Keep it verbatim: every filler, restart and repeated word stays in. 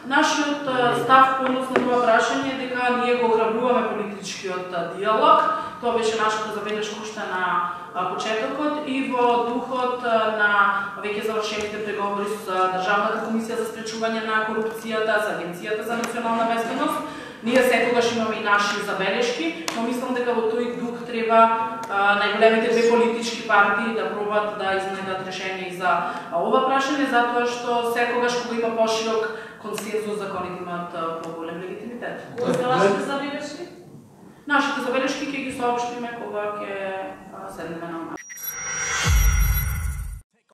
Нашиот став по однос на ова прашање е дека ние го ограбуваме политичкиот диалог. Тоа беше нашата забелешка уште на почетокот и во духот на веќе завршените преговори со Државната комисија за спречување на корупцијата, за Агенцијата за национална безбедност. Ние секогаш имаме и наши забелешки, но мислам дека во тој дух треба најголемите две политички партии да пробат да изнајдат решение и за ова прашање, затоа што секогаш кога има поширок консензус, законите имаат поголем легитимитет. Кои се вашите забелешки? Нашите забелешки ќе ги соопштиме кога ќе седнеме на